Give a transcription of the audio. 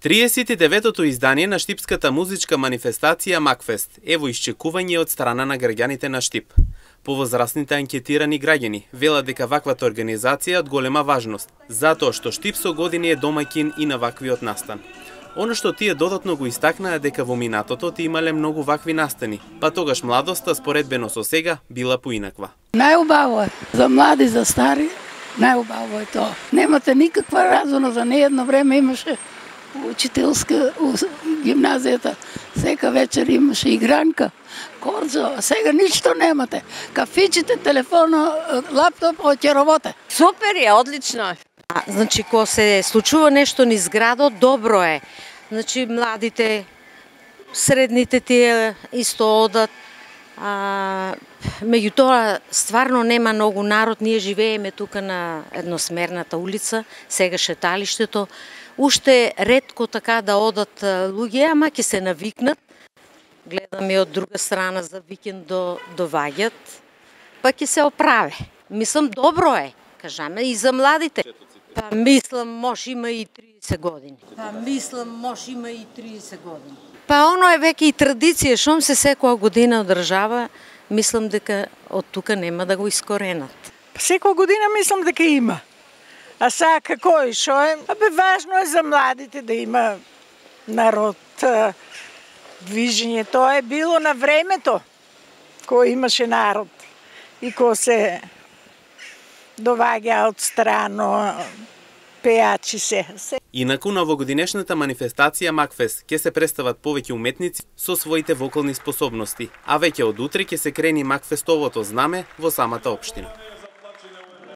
39-тото издание на штипската музичка манифестација Макфест е во исчекување од страна на граѓаните на Штип. Повозрасните анкетирани граѓани велат дека ваквата организација е од голема важност, затоа што Штип со години е домаќин и на ваквиот настан. Оно што тие додатно го истакнаа дека во минатото имале многу вакви настани, па тогаш младоста споредбено со сега била поинаква. Најубаво е за млади, за стари, најубаво е тоа. Немате никаква разона, за не едно време имаше учителска гимназијата, сека вечер имаше игранка, корзо, а сега ништо немате. Кафичите, телефона, лаптоп, оќеровоте. Супер е, одлично е. Значи, кога се случува нешто низ градот, добро е. Значи, младите, средните тие исто одат. Меѓутоа, стварно нема многу народ. Ние живееме тука на едносмерната улица, сега шеталиштето. Уште ретко така да одат луѓе, ама ќе се навикнат. Гледаме од друга страна за викенд доваѓат, па ќе се оправе. Мислам, добро е, кажаме, и за младите. Па мислам, може има и 30 години. Па оно е веќе и традиција, шом се секоја година одржава, мислам дека од тука нема да го искоренат. Секоја година мислам дека има. А сега како и шо е? Важно е за младите да има народ, движење. Тоа е било на времето, кој имаше народ и кој се доваѓа од страно, пеачи се. Инаку на овогодинешната манифестација Макфест ќе се представат повеќе уметници со своите вокални способности, а веќе од утре ќе се крени Макфестовото знаме во самата општина.